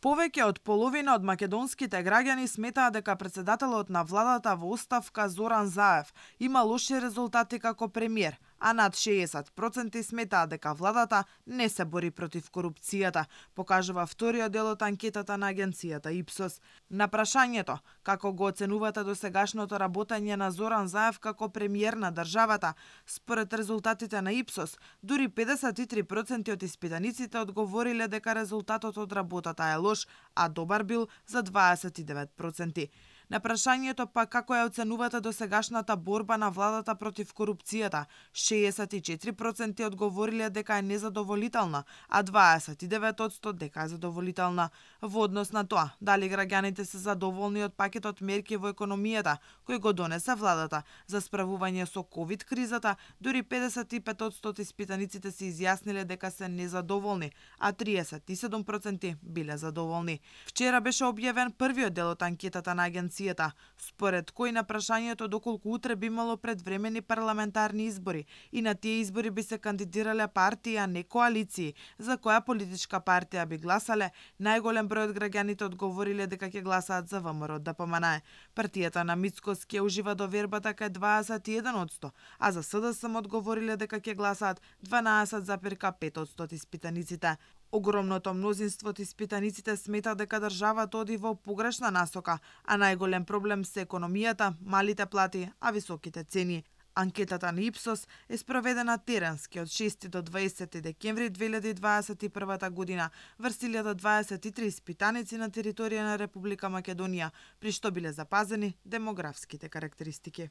Повеќе од половина од македонските граѓани сметаат дека претседателот на владата во оставка Зоран Заев има лоши резултати како премиер, а над 60% сметаат дека владата не се бори против корупцијата, покажува вториот дел од анкетата на агенцијата Ипсос. На прашањето како го оценувате досегашното работење на Зоран Заев како премиер на државата, според резултатите на Ипсос, дури 53% од испитаниците одговориле дека резултатот од работата е лош, а добар бил за 29%. На прашањето па како ја оценувате досегашната борба на владата против корупцијата, 64% одговориле дека е незадоволителна, а 29% дека е задоволителна. Во однос на тоа, дали граѓаните се задоволни од пакетот мерки во економијата кој го донесе владата за справување со ковид кризата, дури 55% од испитаниците се изјасниле дека се незадоволни, а 37% биле задоволни. Вчера беше објавен првиот дел од анкетата на агенцијата, според кој на прашањето доколку утре би имало предвремени парламентарни избори и на тие избори би се кандидирале партии, а не коалиции, за која политичка партија би гласале, најголем број од граѓаните одговориле дека ќе гласаат за ВМРО-ДПМН. Партијата на Мицкоски ужива довербата кај 21%, а за СДСМ одговориле дека ќе гласаат 12,5% од испитаниците. Огромното мнозинство од испитаниците смета дека државата оди во погрешна насока, а најголем проблем се економијата, малите плати, а високите цени. Анкетата на Ипсос е спроведена теренски од 6 до 20 декември 2021 година врз 1023 испитаници на територија на Република Македонија, при што биле запазени демографските карактеристики.